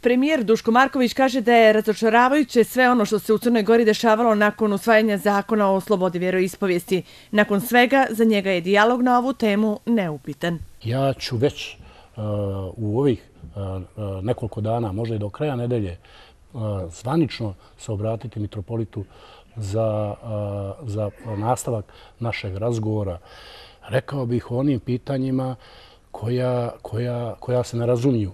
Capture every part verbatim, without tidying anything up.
Premijer Duško Marković kaže da je razočaravajuće sve ono što se u Crnoj Gori dešavalo nakon usvajanja zakona o slobodi vjeroispovijesti. Nakon svega, za njega je dijalog na ovu temu neupitan. Ja ću već uh, u ovih uh, nekoliko dana, možda i do kraja nedelje, uh, zvanično se obratiti mitropolitu za, uh, za nastavak našeg razgovora. Rekao bih o onim pitanjima koja, koja, koja se ne razumiju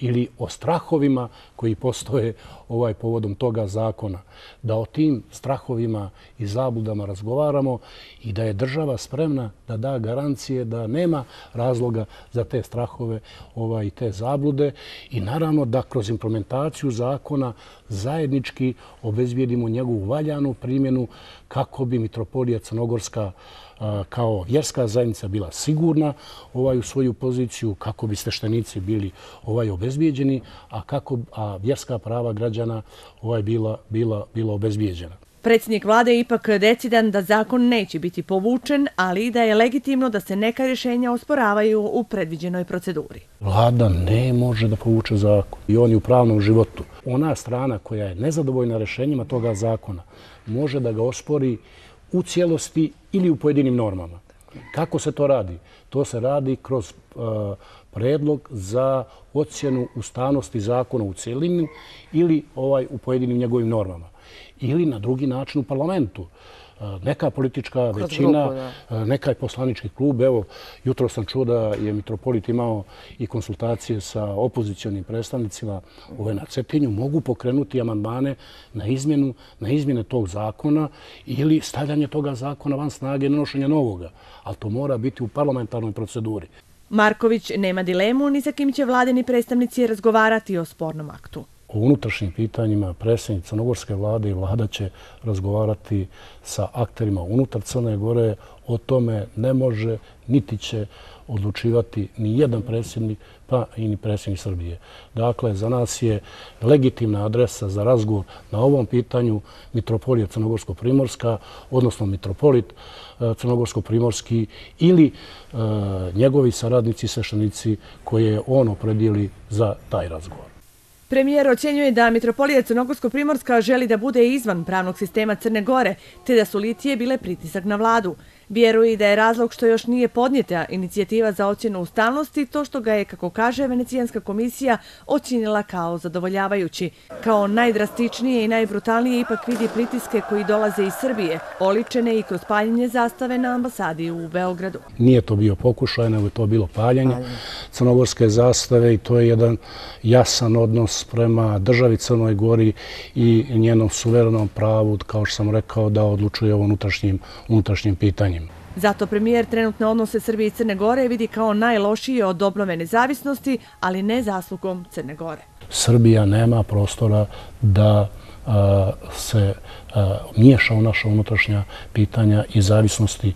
ili o strahovima koji postoje ovaj povodom toga zakona. Da o tim strahovima i zabludama razgovaramo i da je država spremna da da garancije da nema razloga za te strahove ovaj, i te zablude i naravno da kroz implementaciju zakona zajednički obezbijedimo njegovu valjanu primjenu kako bi Mitropolija Crnogorska kao vjerska zajednica bila sigurna ovaj, u svoju poziciju, kako bi sveštenici bili ovaj, obezbijeđeni, a kako a vjerska prava građana ovaj, bila, bila, bila obezbijeđena. Predsjednik vlade je ipak decidan da zakon neće biti povučen, ali i da je legitimno da se neka rješenja osporavaju u predviđenoj proceduri. Vlada ne može da povuče zakon i on je u pravnom životu. Ona strana koja je nezadovoljna rješenjima toga zakona može da ga ospori u cijelosti ili u pojedinim normama. Kako se to radi? To se radi kroz uh, predlog za ocjenu ustavnosti zakona u cijelini ili ovaj, u pojedinim njegovim normama. Ili na drugi način u parlamentu. Neka politička većina, neka poslanički klub. Evo, jutro sam čuo da je mitropolit imao i konsultacije sa opozicionim predstavnicima ove na Cetinju. Mogu pokrenuti amandmane na izmjenu, na izmjene tog zakona ili stavljanje toga zakona van snage i nanošenja novoga. Ali to mora biti u parlamentarnoj proceduri. Marković nema dilemu ni sa kim će vladini predstavnici razgovarati o spornom aktu. O unutrašnjim pitanjima predsjednik crnogorske vlade i vlada će razgovarati sa akterima unutar Crne Gore. O tome ne može niti će odlučivati ni jedan predsjednik, pa i ni predsjednik Srbije. Dakle, za nas je legitimna adresa za razgovor na ovom pitanju Mitropolija Crnogorsko-Primorska, odnosno mitropolit Crnogorsko-Primorski ili uh, njegovi saradnici i sveštenici koje on opredijeli za taj razgovor. Premijer ocjenjuje da Mitropolija Crnogorsko-Primorska želi da bude izvan pravnog sistema Crne Gore, te da su litije bile pritisak na vladu. Vjeruje da je razlog što još nije podnijeta inicijativa za ocjenu ustavnosti to što ga je, kako kaže Venecijanska komisija, ocjenila kao zadovoljavajući. Kao najdrastičnije i najbrutalnije ipak vidi pritiske koji dolaze iz Srbije, oličene i kroz paljenje zastave na ambasadi u Beogradu. Nije to bio pokušaj, nego je to bilo paljenje crnogorske zastave i to je jedan jasan odnos prema državi Crnoj Gori i njenom suverenom pravu, kao što sam rekao, da odlučuje o unutrašnjim, unutrašnjim pitanjima. Zato premijer trenutne odnose Srbije i Crne Gore vidi kao najlošije od obnove nezavisnosti, ali ne zaslugom Crne Gore. Srbija nema prostora da a, se a, miješa u naša unutrašnja pitanja i zavisnosti.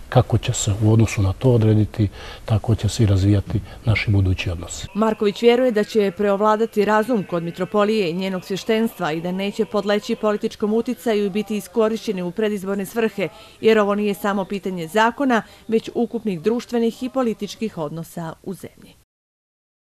Kako će se u odnosu na to odrediti, tako će se i razvijati naši budući odnosi. Marković vjeruje da će preovladati razum kod mitropolije i njenog svještenstva i da neće podleći političkom uticaju i biti iskorišćeni u predizborne svrhe, jer ovo nije samo pitanje zakona, već ukupnih društvenih i političkih odnosa u zemlji.